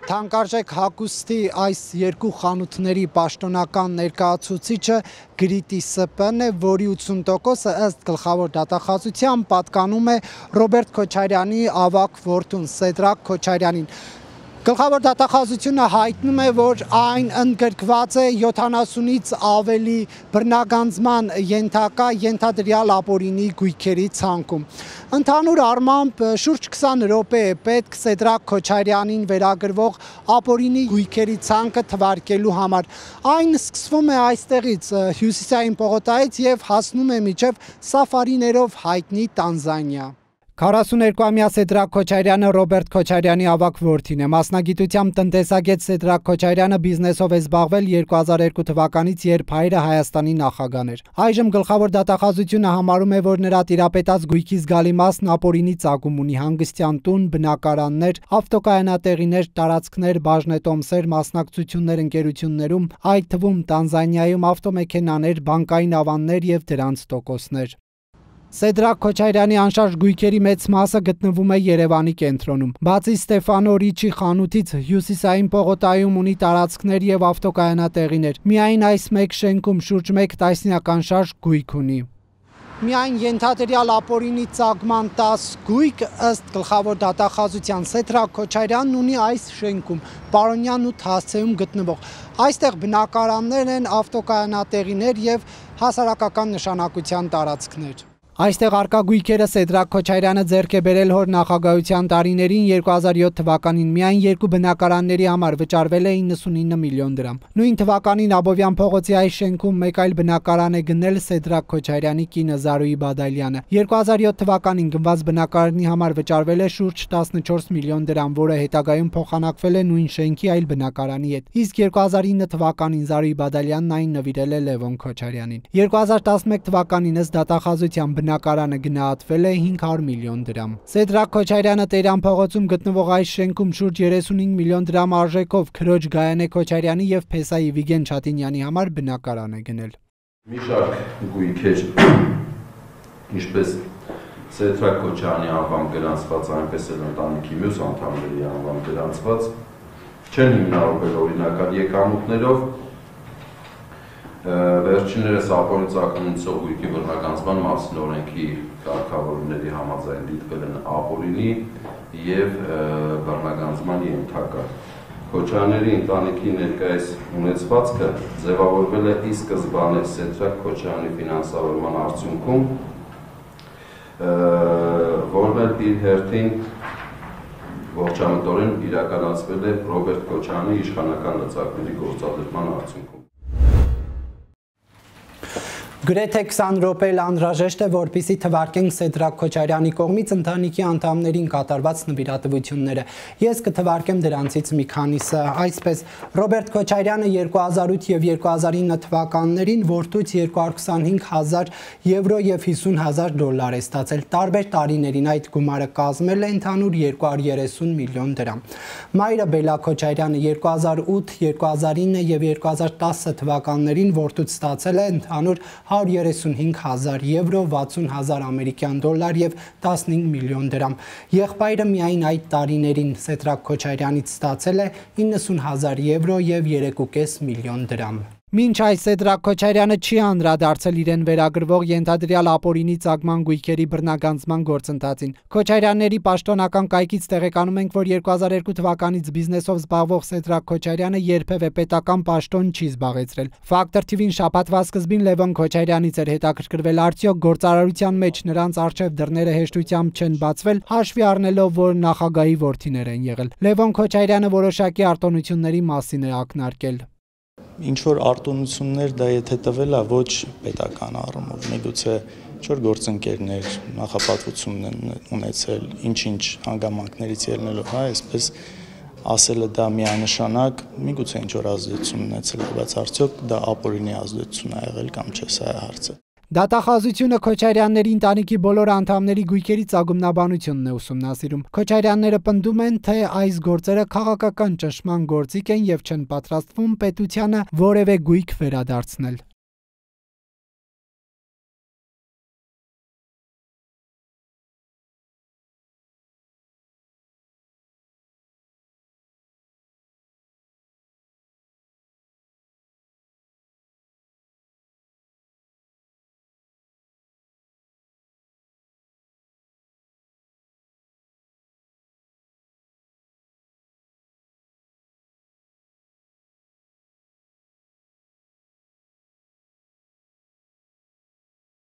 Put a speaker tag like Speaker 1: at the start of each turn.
Speaker 1: Թանկարժեք հագուստի այս երկու խանութների պաշտոնական ներկայացուցիչը Գրիտի ՍՊ-ն է, որի 80%-ը ըստ գլխավոր դատախազության պատկանում է Ռոբերտ Քոչարյանի ավագ որդուն Սեդրակ Քոչարյանին։ Գլխավոր դատախազությունը հայտնում է, որ այն ընդգրկված է 70-ից ավելի բռնագանձման ենթադրյալ ապօրինի գույքերի ցանկում։ Ընդհանուր առմամբ շուրջ 20 րոպե է պետք Սեդրակ Քոչարյանին վերագրվող ապօրինի գույքերի ցանկը թվարկելու համար։ Այն սկսվում է այստեղից Հյուսիսային պողոտայից եւ հասնում է մինչեւ սաֆարիներով հայտնի Տանզանիա։ 42-ամյա Սեդրակ Քոչարյանը Ռոբերտ Քոչարյանի ավագ որդին է։ Մասնագիտությամբ տնտեսագետ Սեդրակ Քոչարյանը բիզնեսով է զբաղվել 2002 թվականից, երբ հայրը Հայաստանի նախագահ էր։ Այժմ գլխավոր դատախազությունը համարում է, որ նրա տիրապետած գույքի զգալի մասն ապօրինի ծագում ունի՝ հանգստյան տուն, բնակարաններ, ավտոկայանատեղիներ, տարածքներ, բաժնետոմսեր, մասնակցություններ ընկերություններում, այդ թվում Տանզանիայում ավտոմեքենաներ, բանկային ավաններ եւ դրանց տոկոսներ։ Սեդրակ Քոչարյանի անշարժ գույքերի մեծ մասը գտնվում է Երևանի կենտրոնում։ Բացի Ստեֆանո Ռիչի խանութից, Հյուսիսային պողոտայում ունի տարածքներ եւ ավտոկայանատեղիներ։ Միայն այս մեկ շենքում շուրջ 1 տասնյակ անշարժ գույք ունի։ Միայն ենթադրյալ ապօրինի ծագման 10 գույք ըստ գլխավոր դատախազության Սեդրակ Քոչարյանն ունի այս շենքում, Պարոնյան 8 հասցեում գտնվող։ Այստեղ բնակարաններ են, ավտոկայանատեղիներ եւ հասարակական նշանակության տարածքներ։ Այստեղ արկա գույքերը Սեդրակ Քոչարյանը ձեռք է բերել հոր նախագահության տարիներին 2007 թվականին միայն երկու բնակարանների համար վճարվել է 99 միլիոն դրամ։ Նույն թվականին Աբովյան փողոցի այս շենքում մեկ այլ բնակարան է գնել Սեդրակ Քոչարյանի կինը Զարուհի Բադալյանը։ 2007 թվականին գնված բնակարանի համար վճարվել է շուրջ 14 միլիոն դրամ, որը հետագայում փոխանակվել է նույն շենքի այլ բնակարանի հետ։ Իսկ 2009 թվականին Զարուհի Բադալյանն այն նվիրել է Լևոն Քոչարյանին։ 2011 թվականին ըստ դատախազության բնակարանը գնահատվել է 500 միլիոն դրամ։ Սեդրակ Քոչարյանը Տերյան փողոցում գտնվող այս շենքում շուրջ 35 միլիոն դրամ արժեքով քրոջ Գայանե Քոչարյանի եւ Փեսայի Վիգեն Չատինյանի համար բնակարան է գնել։
Speaker 2: Մի շարք գույքեր, ինչպես Սեդրակ Քոչարյանի անվամբ գրանցված, այնպես էլ ընտանիքի մյուս անդամների անվամբ գրանցված, չեն հիմնավորվել օրինական եկամուտներով։ Վերջիններս ապօրինի ծագումից գույքի բռնագանձման մասին օրենքի կարգավորումների համաձայն դիտվել են ապօրինի եւ բռնագանձման ենթակա։ Քոչարյանների ընտանիքի ներկայիս ունեցվածքը ձևավորվել է ի սկզբանե Սեդրակ Քոչարյանի ֆինանսավորման արդյունքում, որն էլ իր հերթին ողջամտորեն իրականացվել է Ռոբերտ Քոչարյանի իշխանական լծակների գործադրման արդյունքում։
Speaker 1: Գրեթե 20 րոպե անհրաժեշտ է, որպեսզի թվարկենք Սեդրակ Քոչարյանի կողմից ընտանիքի անդամներին կատարված նվիրատվությունները։ Ես կթվարկեմ դրանցից մի քանիսը, այսպես Ռոբերտ Քոչարյանը 2008 եւ 2009 թվականներին որդուց 225,000 եվրո եւ 50,000 դոլար է ստացել։ Տարբեր տարիներին այդ գումարը կազմել է ընդհանուր 230 միլիոն դրամ։ Մայրը Բելա Քոչարյանը 2008, 2009 եւ 2010 թվականներին որդուց ստացել է ընդհանուր 135,000 եվրո, 60,000 ամերիկյան դոլար եւ 15 միլիոն դրամ։ Եղբայրը միայն այդ տարիներին Սեդրակ Քոչարյանից ստացել է 90,000 եվրո եւ 3.5 միլիոն դրամ։ Մինչ այս Սեդրակ Քոչարյանը չի անդրադարձել իրեն վերագրվող ենթադրյալ ապօրինի ծագման գույքերի բռնագանձման գործընթացին։ Քոչարյանների պաշտոնական կայքից տեղեկանում ենք, որ 2002 թվականից բիզնեսով զբաղվող Սեդրակ Քոչարյանը երբևէ պետական պաշտոն չի զբաղեցրել։ Ֆակտոր TV-ին շաբաթվա սկզբին Լևոն Քոչարյանից էր հետաքրքրվել, արդյոք գործարարության մեջ նրանց առջև դռները հեշտությամբ չեն բացվել, հաշվի առնելով, որ նախագահի որդիներ են եղել։ Լևոն Քոչարյանը որոշակի արտոնությունների մասին է ակնարկել։
Speaker 3: Ինչ որ արտոնություններ դա եթե տվել է ոչ պետական առումով, միգուցե ինչ-որ գործընկերներ նախապատվություն են ունեցել, ինչ-ինչ հանգամանքներից ելնելով, հա, այսպես ասելը դա միանշանակ, միգուցե ինչ-որ ազդեցություն ունեցել է, բայց արդյոք դա ապօրինի ազդեցություն է եղել կամ չէ, սա է հարցը։
Speaker 1: Դատախազությունը Քոչարյանների ընտանիքի բոլոր անդամների գույքերի ծագումնաբանությունն է ուսումնասիրում։ Քոչարյանները պնդում են, թե այս գործերը քաղաքական ճնշման գործիք են եւ չեն պատրաստվում պետությանը որևէ գույք վերադարձնել։